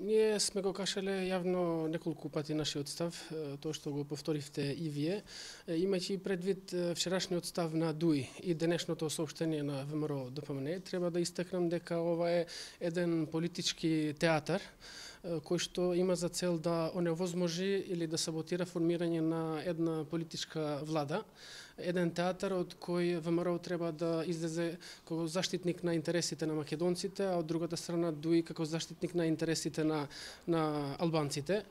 Ние сме го кашале јавно неколку пати нашиот став, тоа што го повторивте и вие, имајќи предвид вчерашниот став на ДУИ и денешното соопштение на ВМРО ДПМН, треба да истакнам дека ова е еден политички театар кој што има за цел да оневозможи или да саботира формирање на една политичка влада. Еден театар од кој ВМРО треба да излезе како заштитник на интересите на македонците, а од другата страна ДУИ како заштитник на интересите на албанците.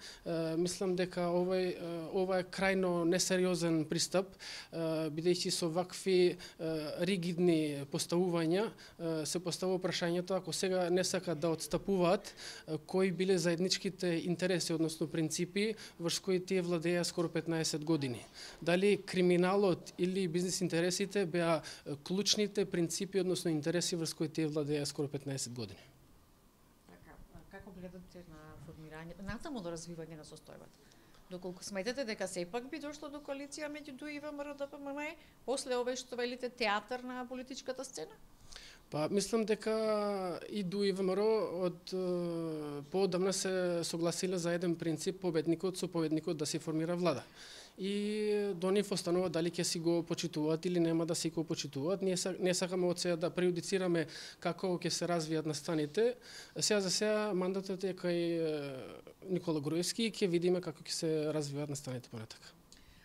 Мислам дека ова е крајно несериозен пристап, бидејќи со вакви ригидни поставувања се поставува прашањето, ако сега не сакат да отстапуваат, кои биле заедничките интереси, односно принципи врз кои тие владеја скоро 15 години. Дали криминалот или бизнес интересите беа клучните принципи, односно интереси врз кои тие владеја скоро 15 години. Така, како гледате на формирање, натаму до развивање на состојбата? Доколку сметате дека сепак би дошло до коалиција меѓу ДУИ и ВМРО ДПМН, после овој што велите театар на политичката сцена? Па, мислам дека и ДУИ и ВМРО од поодамна се согласиле за еден принцип победникот со победникот да се формира влада. И до нив останува дали ќе си го почитуваат или нема да си го почитуваат. Ние не сакаме од сега да прејудицираме како ќе се развијат настаните. Сега за сега мандатот е кај Никола Груевски и ќе видиме како ќе се развијат настаните понатака.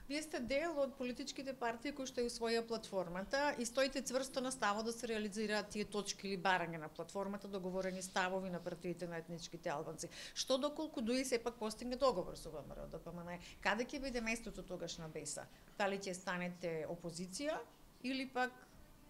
Вие сте дел од политичките партии кои што ја усвоја платформата и стоите цврсто на ставот да се реализираат тие точки или барања на платформата, договорени ставови на партиите на етничките албанци. Што доколку ДУИ сепак постигне договор со ВМРО ДПМН, каде ќе биде местото тогаш на БЕСА? Дали ќе станете опозиција или пак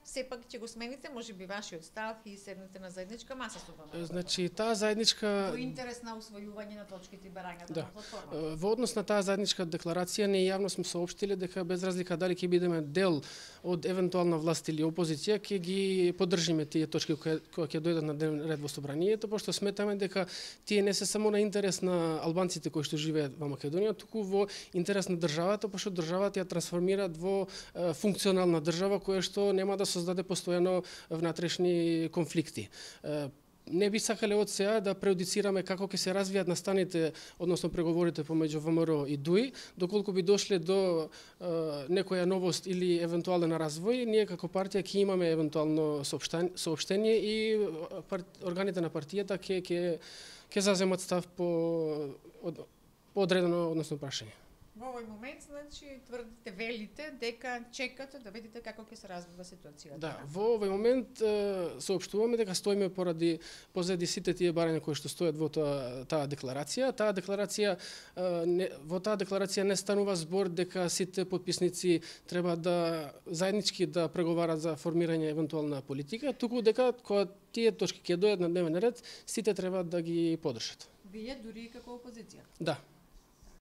сепак ќе го смените можеби вашиот став и седнете на заедничка маса со ВМРО? Значи, таа заедничка... Во интерес на усвојување на точките и барањата на платформата. Во однос на таа заедничка декларација, ние јавно сме соопштиле дека без разлика дали ќе бидеме дел од евентуална власт или опозиција, ќе ги поддржиме тие точки кои ќе дојдат на дневен ред во собранието, пошто сметаме дека тие не се само на интерес на албанците кои што живеат во Македонија, туку во интерес на државата, пошто државата ја трансформираат во функционална држава која што нема да создаде постојано внатрешни конфликти. Не би сакале од сега да преудицираме како ќе се развијат настаните, односно преговорите помеѓу ВМРО и ДУИ, доколку би дошле до некоја новост или евентуален развој, ние како партија ќе имаме евентуално соопштение и органите на партијата ќе заземат став по одредено, односно прашање. Во овој момент, значи, тврдите, велите дека чекате да видите како ќе се развива ситуацијата. Да, во овој момент соопштуваме дека стоиме позади сите тие барања кои што стојат во таа декларација. Во таа декларација не станува збор дека сите потписници треба да заеднички да преговарат за формирање евентуална политика, туку дека кога тие точки ќе дојдат на дневен ред, сите треба да ги поддржат. Вие дури и како опозиција? Да.